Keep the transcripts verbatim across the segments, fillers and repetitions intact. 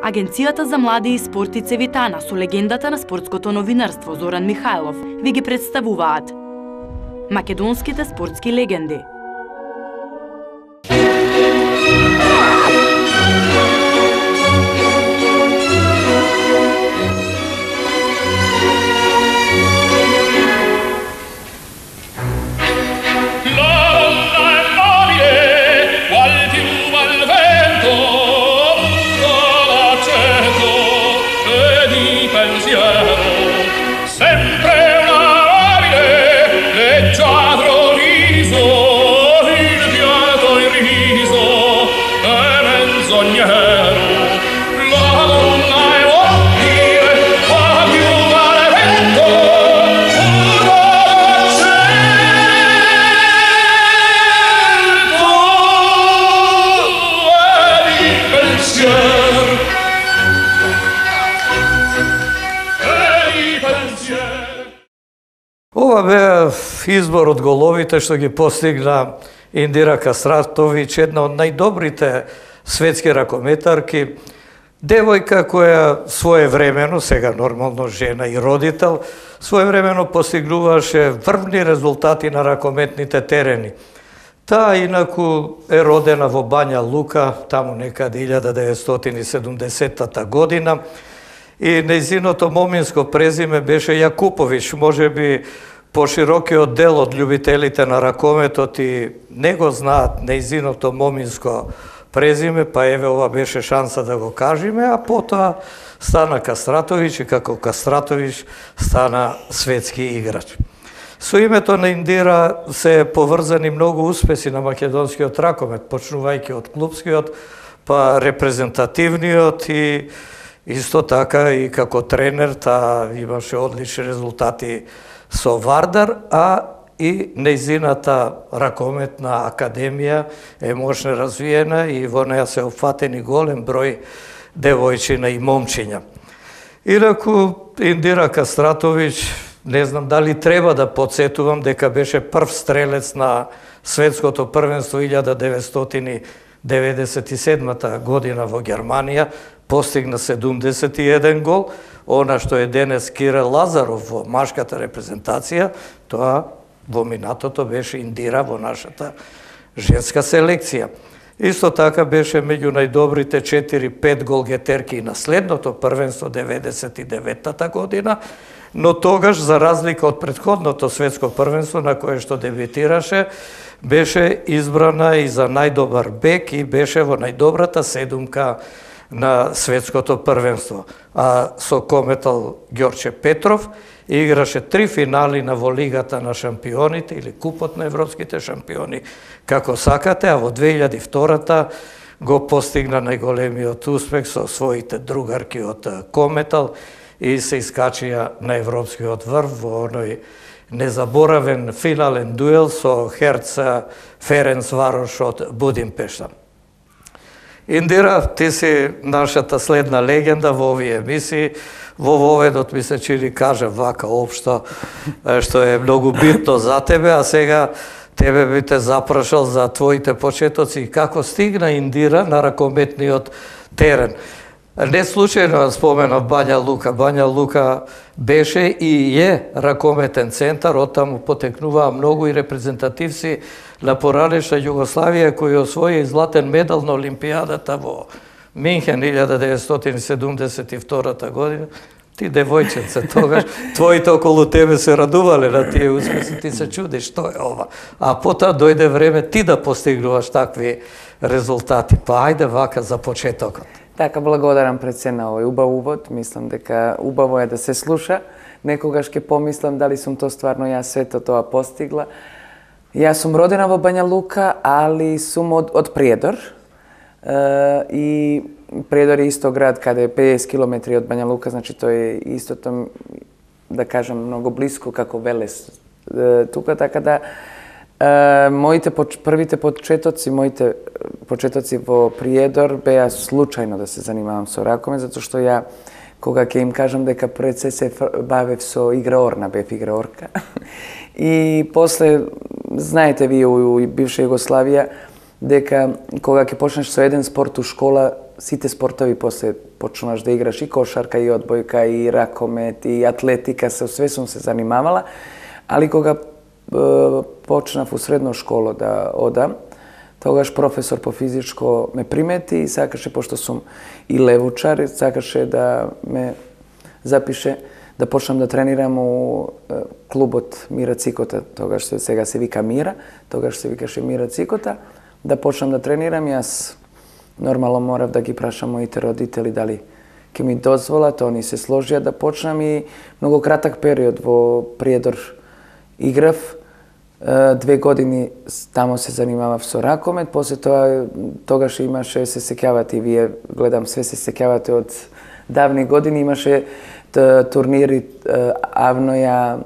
Агенцијата за млади и спорт и Цевитана со легендата на спортското новинарство Зоран Михајлов ви ги представуваат македонските спортски легенди. Ова бе избор од головите што ги постигна Индира Кастратовиќ, една од најдобрите светски ракометарки, девојка која своевремено, сега нормално жена и родител, своевремено постигнуваше врвни резултати на ракометните терени. Таа инаку е родена во Бања Лука, таму некаде илјада деветстотини и седумдесетта година, и нејзиното моминско презиме беше Јакуповиќ, можеби поширокиот дел од љубителите на ракометот и не го знаат нејзиното моминско презиме, па еве ова беше шанса да го кажеме, а потоа стана Кастратовиќ и како Кастратовиќ стана светски играч. Со името на Индира се поврзани многу успеси на македонскиот ракомет, почнувајќи од клупскиот, па репрезентативниот и исто така и како тренер, таа имаше одлични резултати со Вардар, а и нејзината ракометна академија е мощно развиена и во неја се опфатени голем број девојчина и момчиња. Инаку Индира Кастратовиќ, не знам дали треба да подсетувам дека беше прв стрелец на светското првенство илјада деветстотини деветдесет и седма година во Германија, постигна седумдесет и еден гол, она што е денес Кирил Лазаров во машката репрезентација, тоа во минатото беше Индира во нашата женска селекција. Исто така беше меѓу најдобрите четири-пет голгетерки на следното првенство деветдесет и деветта година, но тогаш, за разлика од претходното светско првенство на кое што дебитираше, беше избрана и за најдобар бек и беше во најдобрата седумка на светското првенство. А со кометал Ѓорче Петров играше три финали на во Лигата на шампионите или Купот на европските шампиони, како сакате, а во две илјади и втора го постигна најголемиот успех со своите другарки од Кометал и се искачија на европскиот врв во оној незаборавен финален дуел со Херца Ференц Варош од Будимпешта. Индира, ти си нашата следна легенда во овие емисии. Во воведот ми се чини кажа вака општо, што е многу битно за тебе, а сега тебе би те запрашал за твоите почетоци и како стигна Индира на ракометниот терен. Не случајно споменав Бања Лука. Бања Лука беше и е ракометен центар, оттаму потекнуваа многу и репрезентативци на поранешна Југославија кои освои златен медал на Олимпијадата во Минхен илјада деветстотини седумдесет и втора година. Ти девојченце тогаш, твоите околу тебе се радувале на тие успеси, ти се чудиш што е ова. А потоа дојде време ти да постигнуваш такви резултати. Па ајде вака за почетокот. Така, благодарам пред се на овој убав увод. Мислам дека убаво е да се слуша. Некогаш ќе помислам дали сум то стварно јас сето тоа постигла. Јас сум родена во Бања Лука, али сум од, од Приедор. Uh, и Приедор е исто град каде е педесет километри од Бања Лука, значи тој е истото, да кажам, многу близко како Велес. Uh, тука, така да, uh, моите поч... првите почетоци, моите почетоци во Приедор беа случајно да се занимавам со ракомет, затоа што ја, кога ќе им кажам дека пред се се бавев со играорна, бев играорка. И после, знаете вие, у бивша Југославија, дека кога ќе почнеш со еден спорт у школа, сите спортови после почнуваш да играш и кошарка, и одбојка, и ракомет, и атлетика, со све сум се занимавала, али кога е, почнав у средно школо да одам, тогаш професор по физичко ме примети и сакаше, пошто сум и левучар, сакаше да ме запише да почнам да тренирам у е, клубот Мира Цикота, тогаш се, сега се вика Мира, тогаш се викаше Мира Цикота, да почнам да тренирам. Јас нормално морав да ги прашам моите родители дали ќе ми дозволат, они се сложија да почнам и многу кратак период во Приедор играв. Две години тамо се занимавав со ракомет, после тоа тогаш имаше, се сеќавате и вие, гледам све се сеќавате од давни години, имаше турнири Авноја,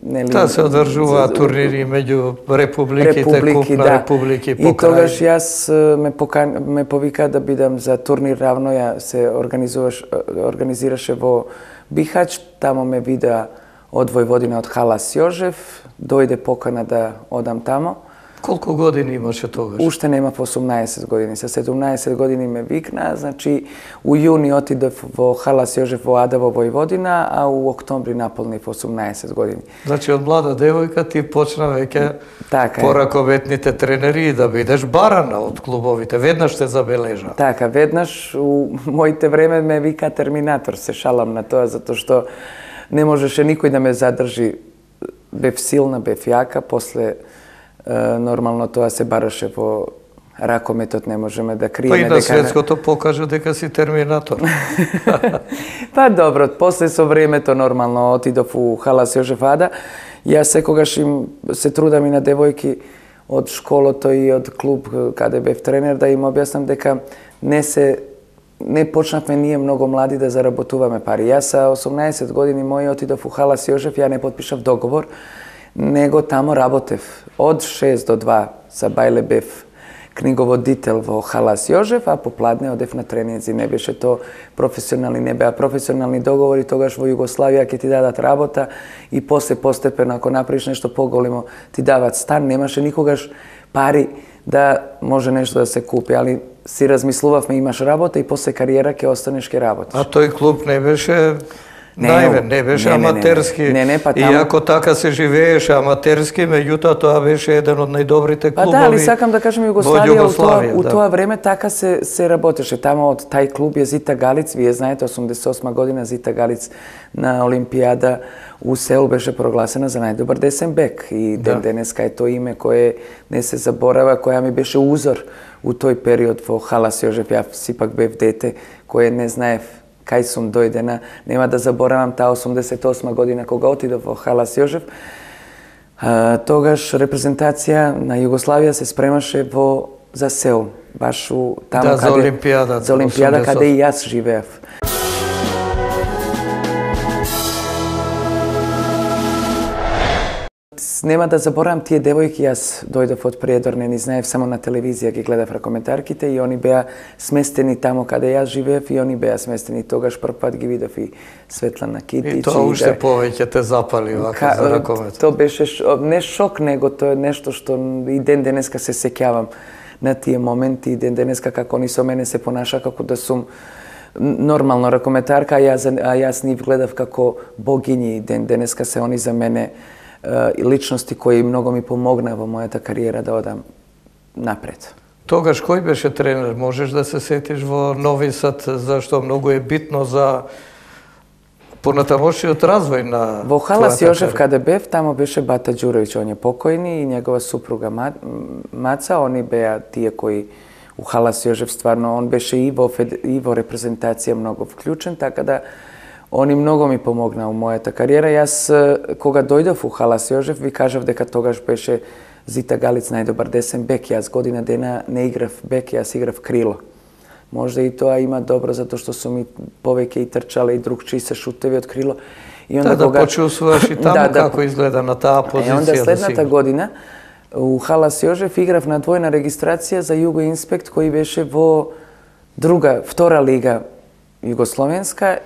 нели? Та се одржува турнири меѓу републиките, републики, куп на да. републики И покрај. тогаш јас ме, покан... ме повика да бидам за турнир Авноја, се организуваш... организираше во Бихач, тамо ме вида од Војводина, од Халас Јожев, дојде покана да одам тамо. Колку години имаше тогаш? Уште немав осумнаесет години, со седумнаесет години ме викна, значи у јуни отидов во Халас Јожев во Ада во Војводина, а у октомври наполнив осумнаесет години. Значи од млада девојка ти почна веќе Така е. по раковетните тренери да бидеш барана од клубовите, веднаш те забележа. Така, веднаш у моите време ме вика Терминатор, се шалам на тоа, затоа што не можеше никој да ме задржи. Бев силна, бев јака, после нормално тоа се бараше во ракометот, не можеме да криеме. Па и на дека... светското покажа дека си Терминатор. Па добро, после со времето нормално отидов у Халас Јожев Ада. Јас секогаш им се трудам и на девојки од школото и од клуб каде бев тренер да им објаснам дека не се не почнавме ние многу млади да заработуваме пари. Јас са осумнаесет години мој отидов у Халас Јожев, ја не потпишав договор, него тамо работев од шест до два за бајле бев книговодител во Халас Јожев, а попладне одев на тренинзи. Не беше то професионални, не беа професионални договори, тогаш во Југославија ќе ти дадат работа и после постепено ако направиш нешто поголемо ти дават стан, немаше никогаш пари да може нешто да се купи, али си размислувавме, имаш работа и после кариера ќе останеш ке работиш. А тој клуб не беше Не, највен, не беше не, не, не, аматерски. не, не, па таму- Иако така се живееше аматерски, меѓутоа тоа беше еден од најдобрите Па клубови. да, али сакам да кажем во Југославија, у тоа, у да. тоа време така се се работеше. Тамо од тај клуб е Зита Галиц, вие знаете, осумдесет и осма година Зита Галиц на Олимпијада у Сеул беше прогласена за најдобар десен бек и ден Да. денеска е тоа име кое не се заборава, која ми беше узор у тој период во Халас Јожев. Ја сипак бев дете кое не знаев кај сум дојдена. Нема да заборавам таа осумдесет и осма година кога отидов во Халас Јожев. А, тогаш репрезентација на Југославија се спремаше во за Сеул, баш у тамо Да, за каде Олимпијадата, за Олимпијада осумдесет и осма. каде и јас живеев. Нема да заборавам тие девојки, јас дојдов од Приедор, не ни знаев, само на телевизија ги гледав ракометарките и они беа сместени тамо каде јас живеев и они беа сместени. Тогаш прв пат ги видов и Светлана Китич. И тоа уште да... повеќе те запали вака Ка... за ракомет. Тоа беше ш... не шок, него тоа е нешто што и ден денеска се сеќавам на тие моменти, и ден денеска како они со мене се понаша како да сум нормално ракометарка, а јас, а јас нив гледав како богињи, и ден денеска се они за мене и личности кои многу ми помогна во мојата кариера да одам напред. Тогаш кој беше тренер? Можеш да се сетиш во Нови Сад, зашто многу е битно за понатамошниот развој на Во Халас твојата Јожев кариера? каде бев, тамо беше Бата Ѓуроvić, он е покојни, и негова супруга Маца, они беа тие кои у Халас Јожев стварно, он беше и во, фед... и во репрезентација многу вклучен, така да они многу ми помогна у мојата кариера. Јас, кога дојдов у Халас Јожев, ви кажав дека тогаш беше Зита Галиц најдобар десен бек. Јас година дена не играв бек, јас играв крило. Можда и тоа има добро, затоа што сум и повеќе и трчала и другчи се шутеви од крило. И Да, да почувствуваш и таму Да, да. како изгледа на таа позиција. Е, онда да следната си... година у Халас Јожев играв на двојна регистрација за Југо Инспект, кој беше во друга, втора лига југословенска.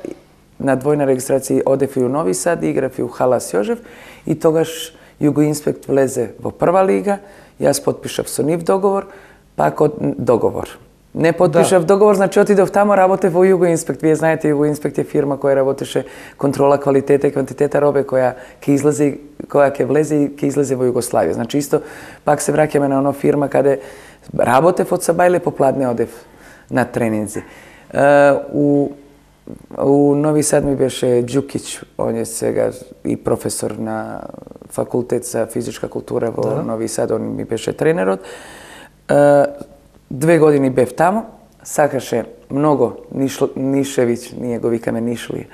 На двојна регистрација одев и у Нови Сад, играв и у Халас Јожев, и тогаш Југо Инспект влезе во прва лига, јас потпишав со нив договор, пак од договор. Не потпишав да. договор, значи отидов тамо, работев во Југоинспект. Вие знаете, Југоинспект е фирма која работеше контрола квалитета и квантитета робе која ќе излезе, која ќе влезе и ќе излезе во Југославија. Значи исто пак се враќаме на оно фирма каде работев од сабајле попладне одев на тренинзи. Uh, у у Нови Сад ми беше Џукиќ, он е сега и професор на факултет за физичка култура во да. Нови Сад, он ми беше тренерот. Uh, Две години бев тамо, сакаше многу Ниш, Нишевиќ, ние го викаме Нишли,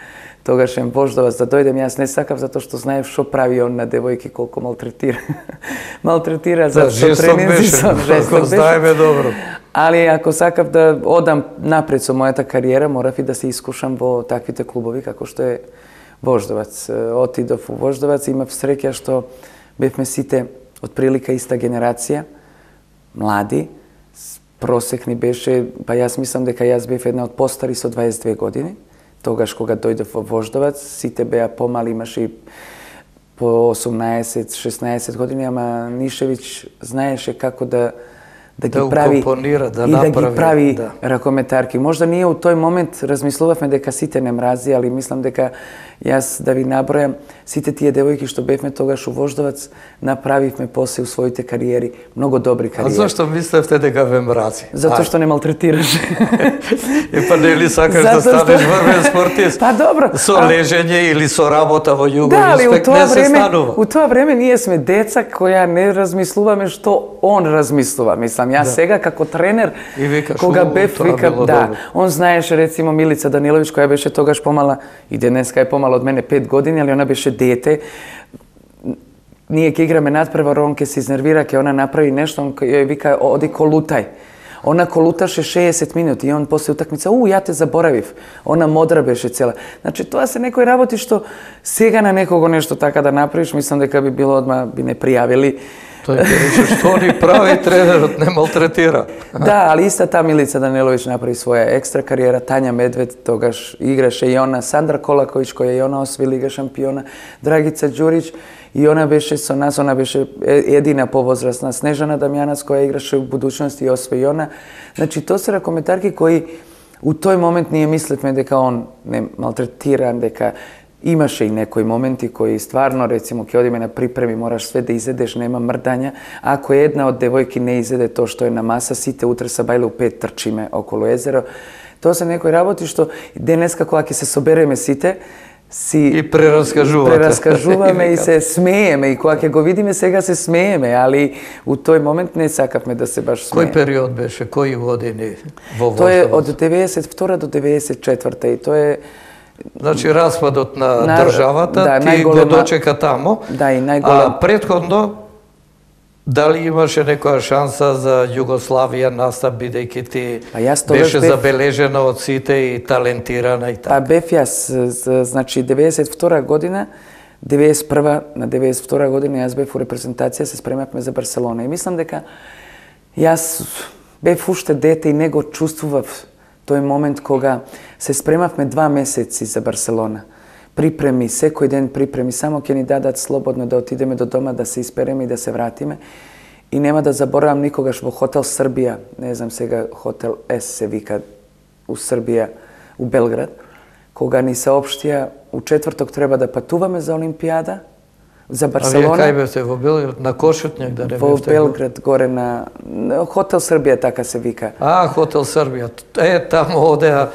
тогаш ем Вождовац да дојдем, јас не сакав затоа што знаев што прави он на девојки, колку малтретира. малтретира за да, тренинзи со жесток знаеме добро. Али ако сакав да одам напред со мојата кариера, морав и да се искушам во таквите клубови како што е Вождовац. Отидов во Вождовац, имав среќа што бевме сите од прилика иста генерација, млади. Просек ни беше, па јас мислам дека јас бев една од постари со дваесет две години. Тогаш кога дојдов во Вождовац, сите беа помали, имаше и по осумнаесет шеснаесет години, ама Нишевиќ знаеше како да да ги да прави компонира, да и направи, да ги прави да. ракометарки. Можда ние у тој момент размислувавме дека сите не мрази, али мислам дека јас да ви набројам сите тие девојки што бевме тогаш у Вождовац, направивме после у своите кариери многу добри кариери. А зашто мислевте дека ве мрази? Затоа што не малтретираше. И па нели сакаш да станеш врвен спортист? Па добро. Со лежење или со работа во Југоинспект да, али у тоа не време, се станува. У тоа време ние сме деца која не размислуваме што он размислува. Мислам, јас да. сега како тренер, и викаш, кога бев, вика, да, добро. Он знаеше рецимо Милица Даниловиќ која беше тогаш помала и денеска е помала од мене пет години, али она беше дете. Ние ќе играме надпревар, он ќе се изнервира, ќе она направи нешто, он ја вика оди колутај. Она колуташе шеесет минути и он после утакмица, у, ја те заборавив. Она модра беше цела. Значи, тоа се некои работи што сега на некого нешто така да направиш, мислам дека би било одма би не пријавили. Тој ќе рече што ни прави тренерот, не малтретира. Да, али иста та Милица Даниловиќ направи своја екстра кариера, Тања Медвед тогаш играше и она, Сандра Колаковиќ која и она осви Лига шампиона, Драгица Ѓуриќ и она беше со нас, она беше едина повозрасна, Снежана Дамјанац која играше во будуćност и осви и она. Значи, тоа се ракометарки кои у тој момент ние мислевме дека он не малтретиран, дека имаше и некои моменти кои стварно, рецимо, ќе одиме на припреми, мораш све да изедеш, нема мрдања. Ако една од девојки не изеде тоа што е на маса, сите утре са бајле у пет трчиме околу езеро. Тоа се некои работи што денеска кога ќе се собереме сите, си и прераскажувате. Прераскажуваме и се смееме и кога ќе го видиме сега се смееме, али у тој момент не сакавме да се баш смееме. Кој период беше, кои години во Вождовац? Тоа е од деветесет и втора до деветесет и четврта и тоа е Значи, распадот на, на државата, да, ти најголема... го дочека тамо, да, и најголем... а предходно, дали имаше некоја шанса за Југославија настап, бидејќи ти па беше бев... забележена од сите и талентирана и така? Па бев јас, значи, деветесет и втора година, деветесет и прва на деветесет и втора година јас бев у репрезентација, се спремавме за Барселона и мислам дека јас бев уште дете и не го чувствував тој момент кога се спремавме два месеци за Барселона. Припреми, секој ден припреми, само ќе ни дадат слободно да отидеме до дома, да се испереме и да се вратиме. И нема да заборавам никогаш во хотел Србија, не знам сега хотел С се вика у Србија, у Белград, кога ни саопштија у четврток треба да патуваме за Олимпијада, за Барселона. А вие кај бевте во Белград, на Кошутњак да не во бевте? Во Белград, горе на хотел Србија, така се вика. А, хотел Србија. Е, таму одеа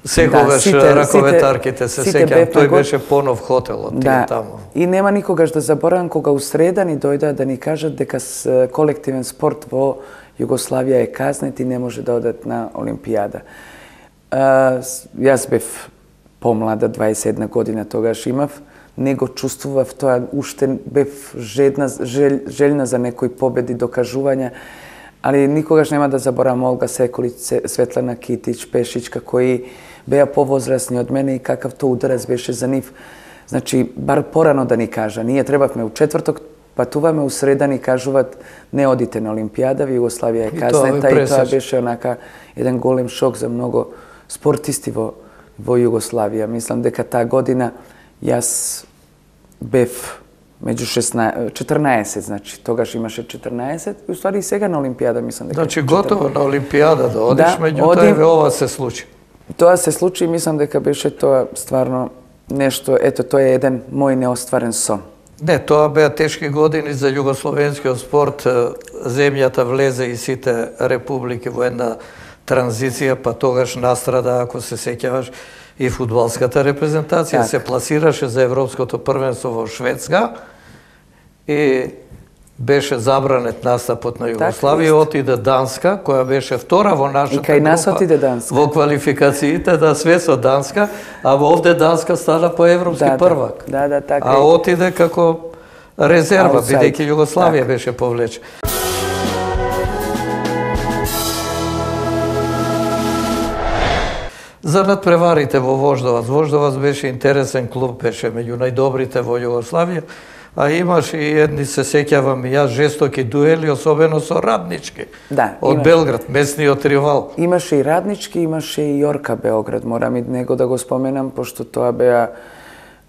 секогаш да, ракометарките, се сеќам, тој го... беше понов хотелот, да, таму. И нема никогаш да заборавам кога у среда ни дојдоа да ни кажат дека с колективен спорт во Југославија е казнет и не може да одат на Олимпијада. А, јас бев помлада, дваесет и една година тогаш имав, не го чувствував тоа, уште бев жедна, жел, желна за некои победи, докажувања, али никогаш нема да заборавам Олга Секолиќ, Светлана Китич, Пешичка, кои беа повозрасни од мене и какав тоа ударец беше за нив. Значи, бар порано да ни кажа, ние требавме у четврток, патуваме у среда ни кажуваат не одите на Олимпијада, Југославија е казнета и тоа беше онака еден голем шок за многу спортисти во, во Југославија. Мислам дека таа година јас бев меѓу шеснаесет, четрнаесет, значи тогаш имаше четрнаесет и уствари и сега на Олимпијада мислам дека. Значи готово на Олимпијада да одиш, Да, меѓутоа одим. еве ова се случи. Тоа се случи и мислам дека беше тоа стварно нешто, ето тоа е еден мој неостварен сон. Не, тоа беа тешки години за југословенскиот спорт. Земјата влезе и сите републики во една транзиција, па тогаш настрада, ако се сеќаваш, и фудбалската репрезентација. Так. Се пласираше за Европското првенство во Шведска и беше забранет настапот на Југославија, Так, отиде Данска, која беше втора во нашата И кај нас група отиде Данска. во квалификациите да све со Данска, а во овде Данска стана по европски Да, да. првак. Да, да, така А е. отиде како резерва, Аутсайд. бидејќи Југославија Така. беше повлечена. За надпреварите во Вождовац. Вождовац беше интересен клуб, беше меѓу најдобрите во Југославија, а имаше и едни, се сеќавам и јас, жестоки дуели, особено со Раднички. Да, од имаше. Белград, местниот ривал. Имаше и Раднички, имаше и Јорка Београд, морам и него да го споменам, пошто тоа беа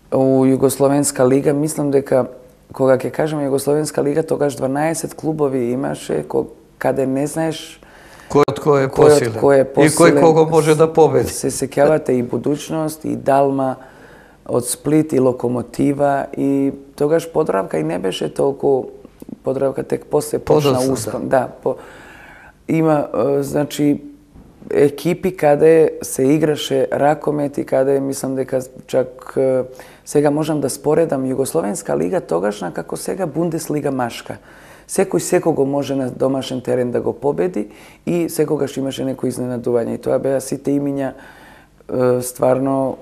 у Југословенска лига, мислам дека кога ќе кажеме Југословенска лига, тогаш дванаесет клубови имаше, ко- каде не знаеш Кој од кој е кој од посилен. кој е И посилен. кој кого може да победи. Се сеќавате и Будуćност, и Далма од Сплит, и Локомотива, и тогаш Подравка и не беше толку, Подравка тек после почна Подоцна, успон. Да, по, има, е, значи, екипи каде се играше ракомет и каде мислам дека чак е, сега можам да споредам Југословенска лига тогашна како сега Бундеслига машка. Секој секого може на домашен терен да го победи и секогаш имаше некој изненадување. И тоа беа сите имиња е, стварно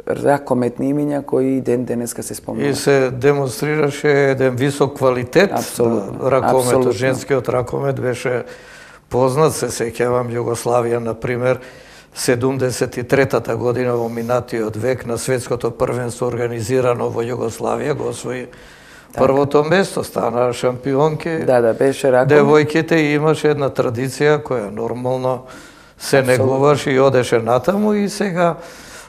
ракометни имиња кои и ден денеска се И спомнуваат. се демонстрираше еден висок квалитет. Апсолутно, Ракометот, апсолутно. женскиот ракомет беше познат, се сеќавам Југославија, например, седумдесет и третата година во минатиот век на светското првенство организирано во Југославија го освои првото место, стана шампионки. Да, да, беше ракомет. Девојките имаше една традиција која нормално се негуваше и одеше натаму и сега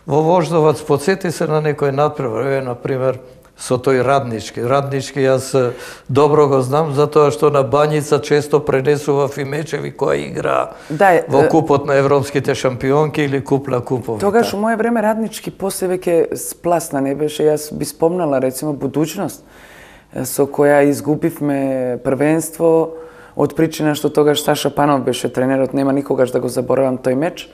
во Вождовац подсети се на некој надпревар, еве на пример со тој Раднички. Раднички јас е, добро го знам затоа што на Бањица често пренесував и мечеви кои игра Да, е, во е, купот на европските шампионки или куп на купови. Тогаш у моје време Раднички после веќе спласна не беше, јас би спомнала рецимо Будуćност со која изгубивме првенство од причина што тогаш Саша Панов беше тренерот, нема никогаш да го заборавам тој меч.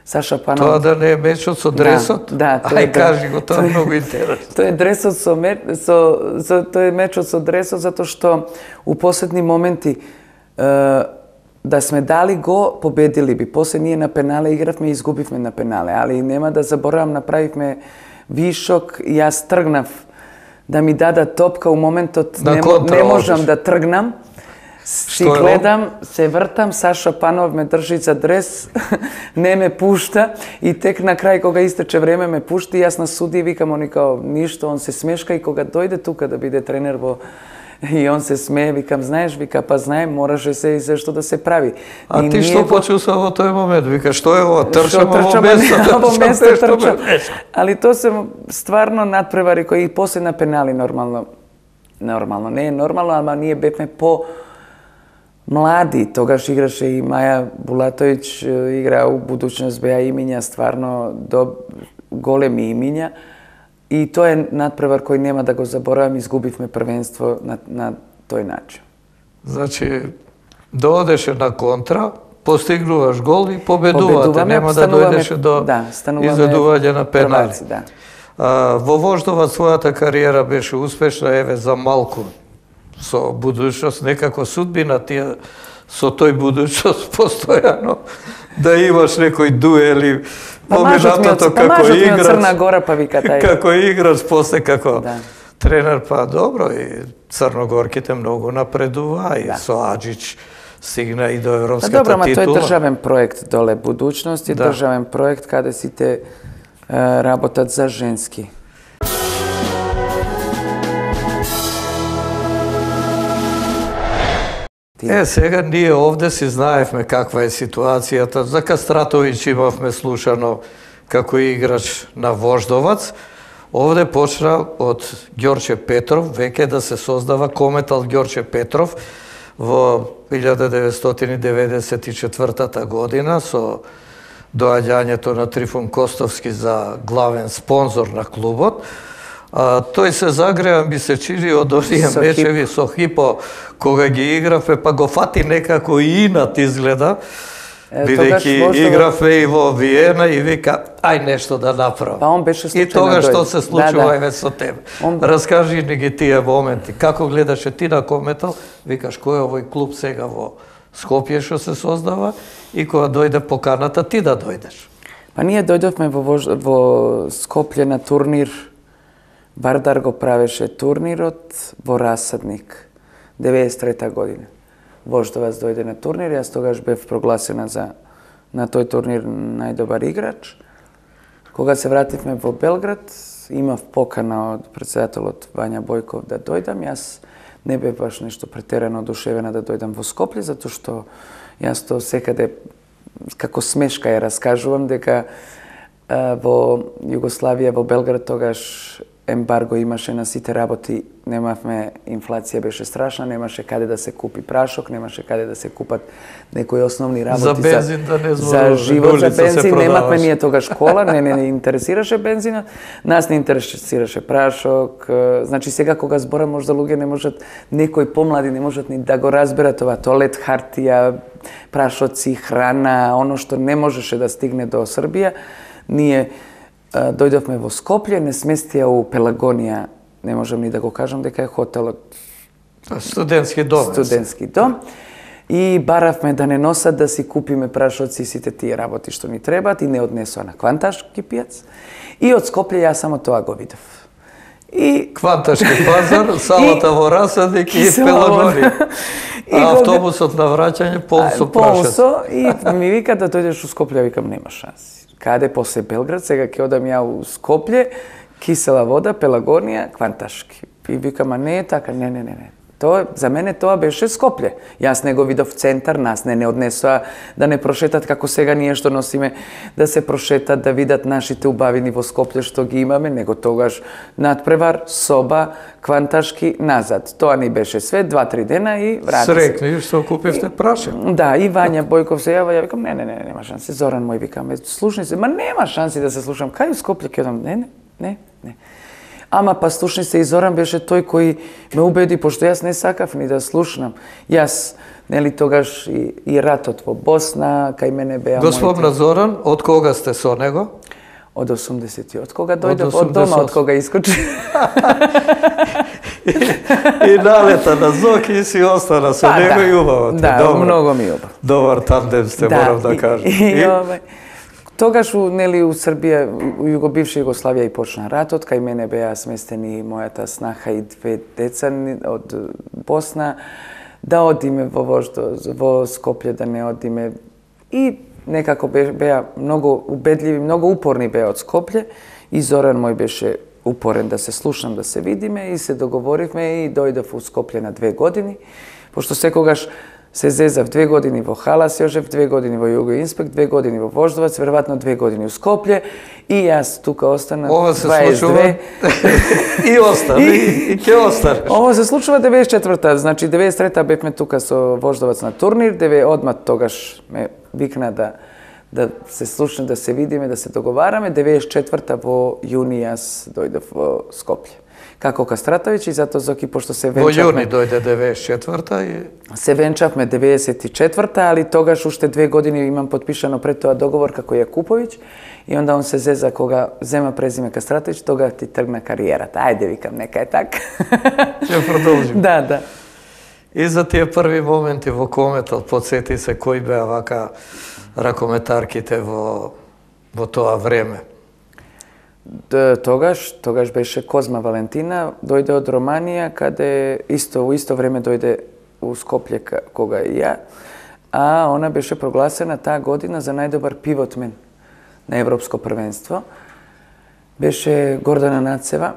Саша Панов. Тоа да не е мечот со дресот? Да, да, тоа е, Ај да. кажи го, тоа е многу интересно. Тој е дресот со меч, со, со тој е мечот со дресот затоа што у последни моменти е, да сме дали го, победили би. После ние на пенале игравме и изгубивме на пенале, али нема да заборавам, направивме вишок и јас тргнав да ми дадат топка у моментот На не, контра не можам одиш. да тргнам. Си Што е гледам, се вртам, Саша Панов ме држи за дрес, не ме пушта и тек на крај кога истече време ме пушти, јас на суди викам, они као ништо, он се смешка и кога дојде тука да биде тренер во и он се смее, викам, знаеш, вика, па знаем, мораше се и зашто да се прави. А И ти ние што го- почувства во тој момент? Вика, што е ова? Што Трчам во трчам, место. а не, во трчам место нешто трчам. ме меша. Али тоа се стварно надпревари кои и после на пенали нормално. Нормално, не е нормално, ама ние бевме по млади. Тогаш играше и Маја Булатовиќ, игра у Будуćност, беа имиња стварно до големи имиња. И тоа е надпревар кој нема да го заборавам, изгубивме првенство на, на тој начин. Значи, доодеше на контра, постигнуваш гол и победувате. Победуваме, Нема да стануваме- дојдеше до да, стануваме изведување на пенали. прваци, да. А, во Вождовац својата кариера беше успешна, еве за малку со Будуćност, некако судбина тие со тој Будуćност постојано да имаш некој дуели Па мажот ми од, поминатото па како мажот ми од играч. Црна Гора, па вика тај. Како играч, после како Да. тренер, па добро, и црногорките многу напредува, и Да. со Аџич стигна и до Па европската добро, ама тој е титула. државен проект доле Будуćност и Да. државен проект каде сите е, работат за женски. Е, сега ние овде си знаевме каква е ситуацијата. За Кастратовиќ имавме слушано како играч на Вождовац. Овде почна од Ѓорче Петров, веќе да се создава Кометал Ѓорче Петров во илјада деветстотини деветдесет и четвртата година со доаѓањето на Трифун Костовски за главен спонзор на клубот. А, тој се загреа, ми се чини, од оние мечеви со Хипо, кога ги играве, па го фати некако и инат изгледа, бидејќи играве и во Виена и вика, ај нешто да направам. Па он беше случајно. И тога што се случува да, да. еве со тебе. Он... Раскажи ни ги тие моменти. Како гледаше ти на Кометал, викаш кој е овој клуб сега во Скопје што се создава и кога дојде поканата ти да дојдеш? Па ние дојдовме во, во Скопје на турнир. Вардар го правеше турнирот во Расадник, деветдесет и трета година. Вождовац дојде на турнир, јас тогаш бев прогласена за на тој турнир најдобар играч. Кога се вративме во Белград, имав покана од претседателот Вања Бојков да дојдам. Јас не бев баш нешто претерано одушевена да дојдам во Скопје, затоа што јас тоа секаде како смешка ја раскажувам дека а, во Југославија, во Белград тогаш ембарго имаше на сите работи, немавме, инфлација беше страшна, немаше каде да се купи прашок, немаше каде да се купат некои основни работи за бензин, за, да не за живот, за бензин, немавме ние тогаш школа, не, не, не интересираше бензинот, нас не интересираше прашок, значи сега кога зборам можда луѓе не можат, некои помлади не можат ни да го разберат това, тоалет, хартија, прашоци, храна, оно што не можеше да стигне до Србија, ние дојдовме во Скопје, не сместија у Пелагонија, не можам ни да го кажам дека е хотелот. Студентски дом. Студентски дом. И баравме да не носат да си купиме прашоци и сите тие работи што ни требаат и не однесоа на Кванташки пијац. И од Скопје јас само тоа го видов. И Кванташки пазар, салата во Расадник и Пелагонија. А автобусот на враќање пол со прашац. Полсо и ми вика да дојдеш у Скопје, викам нема шанси. Каде после Белград, сега ќе одам ја у Скопје, кисела вода, Пелагонија, Кванташки. И викам, а не е така, не, не, не, не. Тоа, за мене тоа беше Скопје. Јас не го видов центар, нас не не однесоа да не прошетат како сега ние што носиме, да се прошетат, да видат нашите убавини во Скопје што ги имаме, него тогаш надпревар, соба, Кванташки, назад. Тоа ни беше све, два-три дена и врати се. Срекни што купивте прашек. Да, и Вања Бојков се јава, ја викам, не, не, не, нема шанси. Зоран мој викам, слушни се, ма нема шанси да се слушам. Кај у Скопје ќе одам? Не, не, не, не. Ама па слушни се, и Зоран беше тој кој ме убеди, пошто јас не сакав ни да слушнам. Јас, нели тогаш и, и ратот во Босна, кај мене беа Господна Зоран, од кога сте со него? Од осумдесети, од кога дојдов од дома, од кога искочи. и, и налета на Зоки и си остана со па, него да, и убаво. Да, Добро. многу ми убав. Добар тандем сте, да, морам да кажам. И, и, и, и, тогаш у, нели, у Србија, у Југобивша Југославија и почна ратот, кај мене беа сместени мојата снаха и две деца од Босна, да одиме во вождо, во Скопје, да не одиме. И некако беа многу убедливи, многу упорни беа од Скопје и Зоран мој беше упорен да се слушам, да се видиме и се договоривме и дојдов у Скопје на две години, пошто секогаш се зезав две години во Халас Јожев, две години во Југо Инспект, две години во Вождовац, веројатно две години у Скопје и јас тука остана Ова се дваесет две. случува и остана, и, и ќе остане. Ова се случува деветдесет и четврта, значи деветдесет и трета бевме тука со Вождовац на турнир, деве одма тогаш ме викна да да се слушне, да се видиме, да се договараме. деветдесет и четврта во јуни јас дојдов во Скопје. Како Кастратовиќ и затоа Зоки, пошто се венчавме... Во јуни дојде деветдесет и четврта и... Се венчавме деветдесет и четврта, али тогаш уште две години имам подпишано пред тоа договор како Јакуповиќ и онда он се зеза кога зема презиме Кастратовиќ, тога ти тргна кариерата. Ајде, викам, нека е така. Ќе продолжим. Да, да. И за тие први моменти во Кометал, подсети се кои беа вака ракометарките во, во тоа време? Тогаш, тогаш беше Козма Валентина, дојде од Романија, каде исто, у исто време дојде у Скопје кога и ја, а она беше прогласена таа година за најдобар пивотмен на Европско првенство. Беше Гордана Нацева,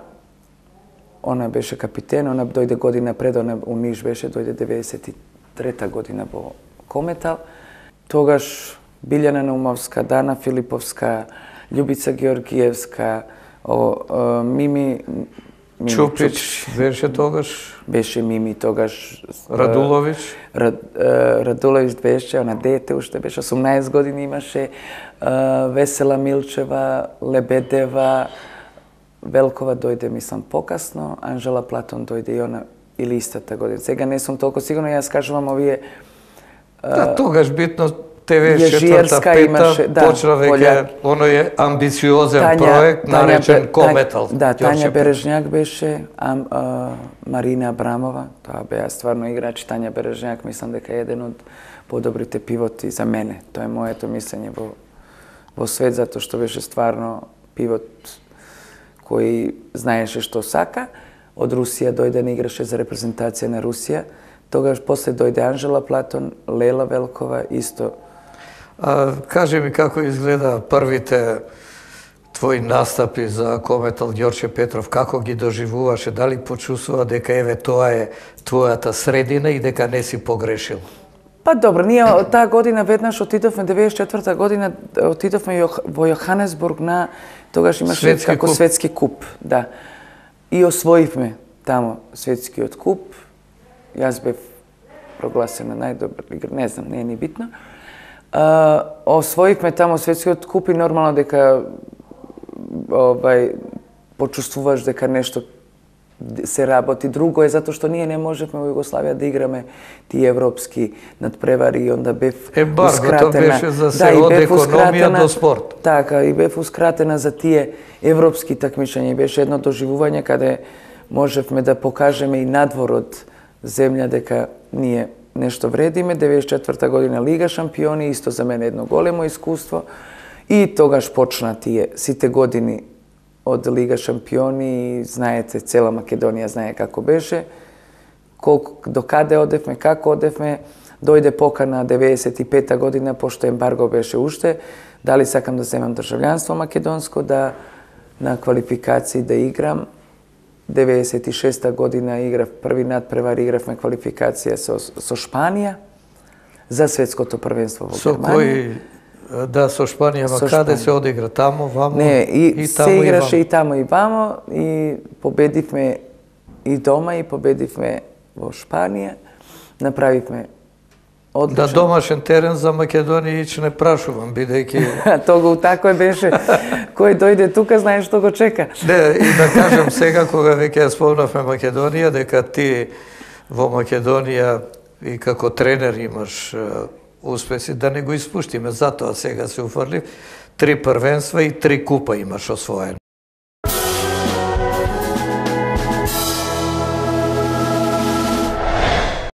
она беше капитен, она дојде година пред, она у Ниш беше, дојде деветдесет и трета година во Кометал. Тогаш Билјана Наумовска, Дана Филиповска, Љубица Георгиевска, О, Мими... Мими Чупич беше тогаш. Беше Мими тогаш. Радулович. Рад, Радулович беше, она дете уште беше, осумнаесет години имаше. Весела Милчева, Лебедева, Велкова дојде, мислам, покасно. Анжела Платон дојде и она или истата година. Сега не сум толку сигурна, јас кажувам овие... Да, тогаш битно деветдесет и четврта имаше, пета почна веќе оној амбициозен Тања, проект наречен Кометал. Да, Тања Бережњак беше, а, а, Марина Абрамова, тоа беа стварно играчи. Тања Бережњак мислам дека е еден од подобрите пивоти за мене. Тоа е моето мислење во во свет, затоа што беше стварно пивот кој знаеше што сака. Од Русија дојде да играше за репрезентација на Русија. Тогаш после дојде Анжела Платон, Лела Велкова, исто. А, кажи ми како изгледа првите твои настапи за Кометал, Ѓорче Петров, како ги доживуваше, дали почувствува дека еве тоа е твојата средина и дека не си погрешил? Па добро, ние таа година веднаш отидовме, деветдесет и четврта година отидовме во Јоханесбург на тогаш имаше светски како куп. светски куп, да. И освоивме тамо светскиот куп. Јас бев прогласена најдобар играч, не знам, не е ни битно. Uh, освоивме тамо светскиот куп и нормално дека обај почувствуваш дека нешто се работи. Друго е затоа што ние не можевме во Југославија да играме тие европски надпревари и онда бев Ембарготоускратена. беше за се да, од бев економијаускратена, до спорт. Така, и бевускратена за тие европски такмичења. Беше едно доживување каде можевме да покажеме и надвор од земја дека ние нешто вредиме. деветдесет и четврта година Лига шампиони, исто за мене едно големо искуство. И тогаш почна тие сите години од Лига шампиони и знаете, цела Македонија знае како беше, колку, до каде одевме, како одевме. Дојде покана деветдесет и пета година, пошто ембарго беше уште, дали сакам да земам државјанство македонско, да на квалификации да играм. деветдесет и шеста година играв први надпревар, игравме квалификација со, со Шпанија за светското првенство во Со Германија. кој, да, со Шпанија, ма каде се одигра? Тамо, вамо? Не, и, и се тамо, играше и, и тамо и вамо и победивме и дома и победивме во Шпанија. Направивме одлично. Да, домашен терен за Македонија ич не прашувам, бидејќи... Тога тако беше. Кој дојде тука, знаеш што го чека. Не, и да кажем сега, кога веќе ја спомнавме Македонија, дека ти во Македонија и како тренер имаш успеси, да не го испуштиме, затоа сега се уфрлив. Три првенства и три купа имаш освоено.